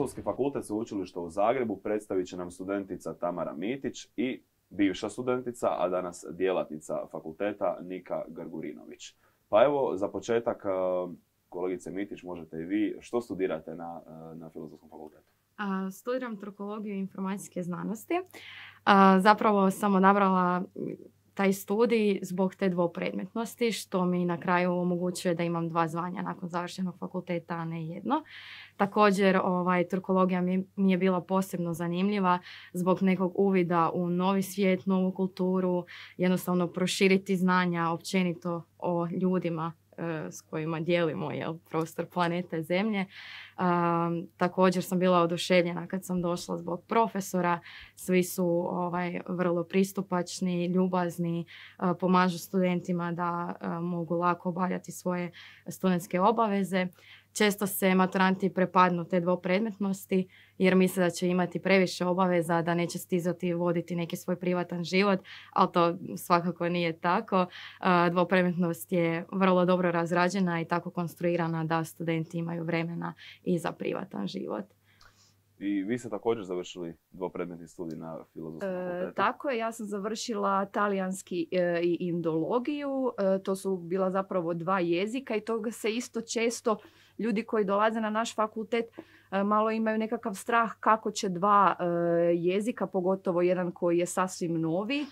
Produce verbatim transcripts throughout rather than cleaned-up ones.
Filozofski fakultet Sveučilišta u Zagrebu predstavit će nam studentica Tamara Mitić i bivša studentica, a danas djelatnica fakulteta Nika Gargurinović. Pa evo, za početak, kolegice Mitić, možete i vi, što studirate na, na Filozofskom fakultetu? A, studiram trukologiju i informacijske znanosti. A, zapravo sam odabrala taj studij zbog te dvopredmetnosti, što mi na kraju omogućuje da imam dva zvanja nakon završenog fakulteta, a ne jedno. Također, ovaj, trukologija mi, mi je bila posebno zanimljiva zbog nekog uvida u novi svijet, novu kulturu, jednostavno proširiti znanja općenito o ljudima s kojima dijelimo jel, prostor planete Zemlje. Um, također sam bila oduševljena kad sam došla zbog profesora. Svi su ovaj, vrlo pristupačni, ljubazni, uh, pomažu studentima da uh, mogu lako obavljati svoje studentske obaveze. Često se maturanti prepadnu te dvopredmetnosti jer misle da će imati previše obaveza, da neće stizati voditi neki svoj privatan život, ali to svakako nije tako. Dvopredmetnost je vrlo dobro razrađena i tako konstruirana da studenti imaju vremena i za privatan život. I vi ste također završili dvopredmetni studij na Filozofskom fakultetu? E, tako je, ja sam završila talijanski e, i indologiju. E, to su bila zapravo dva jezika i toga se isto često ljudi koji dolaze na naš fakultet e, malo imaju nekakav strah kako će dva e, jezika, pogotovo jedan koji je sasvim novi, e,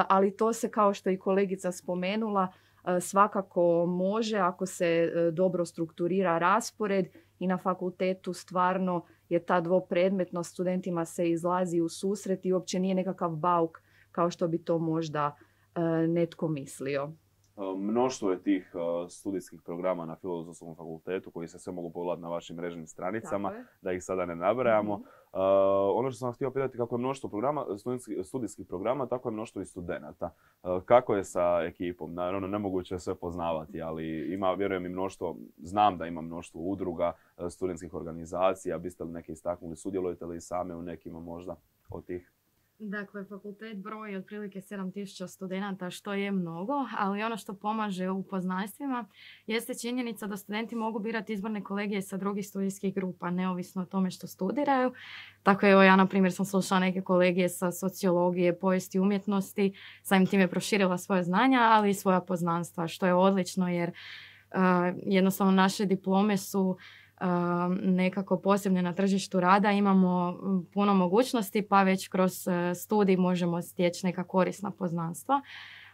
ali to se, kao što je i kolegica spomenula, e, svakako može ako se e, dobro strukturira raspored i na fakultetu stvarno je ta dvopredmetnost, studentima se izlazi u susret i uopće nije nekakav bauk kao što bi to možda e, netko mislio. Mnoštvo je tih uh, studijskih programa na Filozofskom fakultetu koji se sve mogu pogledati na vašim mrežnim stranicama, da ih sada ne nabrajamo. Mm-hmm. Uh, ono što sam htio pitati, kako je mnoštvo programa, studijskih programa, tako je mnoštvo i studenata. Uh, kako je sa ekipom? Naravno, nemoguće je sve poznavati, ali ima, vjerujem, i mnoštvo, znam da ima mnoštvo udruga, uh, studentskih organizacija. Biste li neke istaknuli? Sudjelujete li same u nekima možda od tih? Dakle, fakultet broji otprilike sedam tisuća studenata, što je mnogo, ali ono što pomaže u poznanstvima jeste činjenica da studenti mogu birati izborne kolegije sa drugih studijskih grupa, neovisno o tome što studiraju. Tako evo, ja, na primjer, sam slušala neke kolegije sa sociologije, povijesti umjetnosti, samim time proširila svoje znanja, ali i svoja poznanstva, što je odlično jer uh, jednostavno naše diplome su nekako posebne na tržištu rada, imamo puno mogućnosti pa već kroz studij možemo stječi neka korisna poznanstva.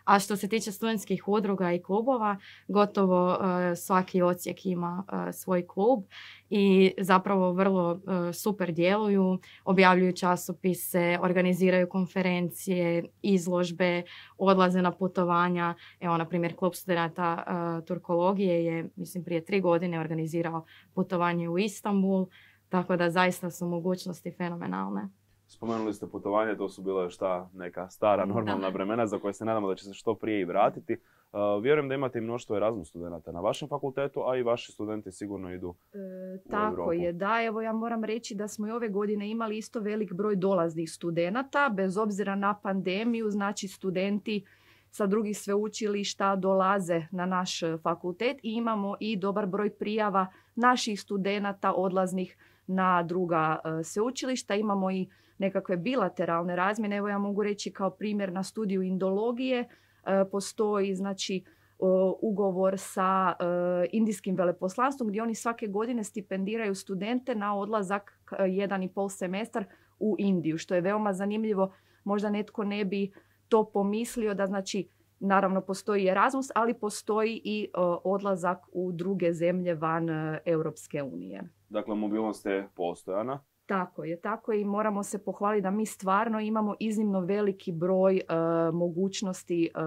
A što se tiče studentskih udruga i klubova, gotovo uh, svaki odsjek ima uh, svoj klub i zapravo vrlo uh, super djeluju, objavljuju časopise, organiziraju konferencije, izložbe, odlaze na putovanja. Evo, na primjer, klub studenata uh, turkologije je, mislim, prije tri godine organizirao putovanje u Istanbul, tako da zaista su mogućnosti fenomenalne. Spomenuli ste putovanje, to su bila još ta neka stara normalna vremena za koje se nadamo da će se što prije i vratiti. Uh, vjerujem da imate i mnoštvo Erasmus studenata na vašem fakultetu, a i vaši studenti sigurno idu e, u Tako Europu. je, da. Evo, ja moram reći da smo i ove godine imali isto velik broj dolaznih studenata, bez obzira na pandemiju, znači studenti sa drugih sveučilišta dolaze na naš fakultet i imamo i dobar broj prijava naših studenata odlaznih na druga uh, sveučilišta. Imamo i nekakve bilateralne razmjene. Evo, ja mogu reći kao primjer na studiju indologije uh, postoji znači uh, ugovor sa uh, indijskim veleposlanstvom gdje oni svake godine stipendiraju studente na odlazak uh, jedan i pol semestar u Indiju, što je veoma zanimljivo. Možda netko ne bi to pomislio da znači naravno postoji Erasmus, ali postoji i uh, odlazak u druge zemlje van uh, Europske unije. Dakle, mobilnost je postojana. Tako je, tako je i moramo se pohvaliti da mi stvarno imamo iznimno veliki broj uh, mogućnosti uh,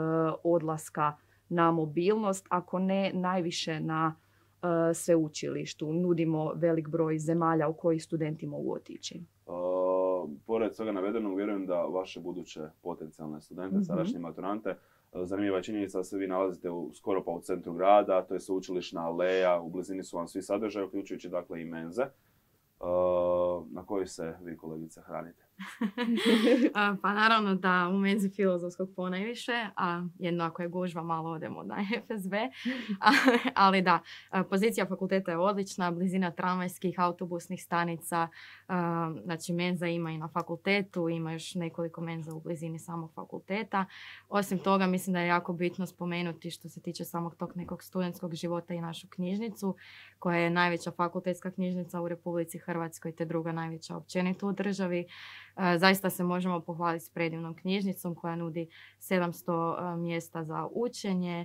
odlaska na mobilnost, ako ne najviše na uh, sveučilištu. Nudimo velik broj zemalja u koji studenti mogu otići. Uh, pored svega navedenog, vjerujem da vaše buduće potencijalne studente, mm-hmm. sadašnje maturante, zanimljiva je činjenica da se vi nalazite u, skoro pa u centru grada, to je sveučilišna aleja, u blizini su vam svi sadržaji, uključujući dakle i menze. Uh, na koji se vi, kolegice, hranite? Pa naravno da u menzi filozofskog ponajviše, a jedno ako je gužva malo odemo na F S B. Ali da, pozicija fakulteta je odlična, blizina tramvajskih, autobusnih stanica, znači menza ima i na fakultetu, ima još nekoliko menza u blizini samog fakulteta. Osim toga mislim da je jako bitno spomenuti što se tiče samog tog nekog studentskog života i našu knjižnicu, koja je najveća fakultetska knjižnica u Republici Hrvatskoj te druga najveća općenito u državi. Zaista se možemo pohvaliti s predivnom knjižnicom koja nudi sedamsto mjesta za učenje.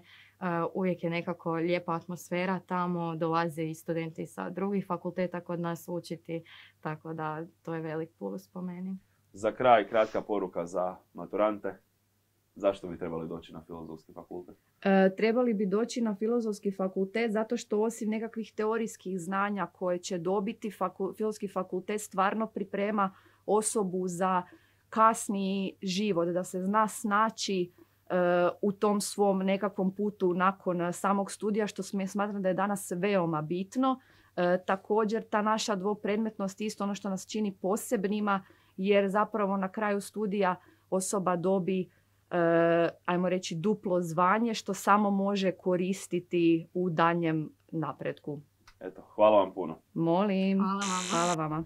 Uvijek je nekako lijepa atmosfera tamo, dolaze i studenti sa drugih fakulteta kod nas učiti, tako da to je velik plus po meni. Za kraj, kratka poruka za maturante. Zašto bi trebali doći na filozofski fakultet? E, trebali bi doći na filozofski fakultet zato što osim nekakvih teorijskih znanja koje će dobiti, faku, filozofski fakultet stvarno priprema osobu za kasniji život, da se zna snaći e, u tom svom nekakvom putu nakon samog studija, što smatram da je danas veoma bitno. E, također ta naša dvopredmetnost je isto ono što nas čini posebnima, jer zapravo na kraju studija osoba dobi Uh, ajmo reći duplo zvanje što samo može koristiti u danjem napretku. Eto, hvala vam puno. Molim. Hvala vama. Hvala vama.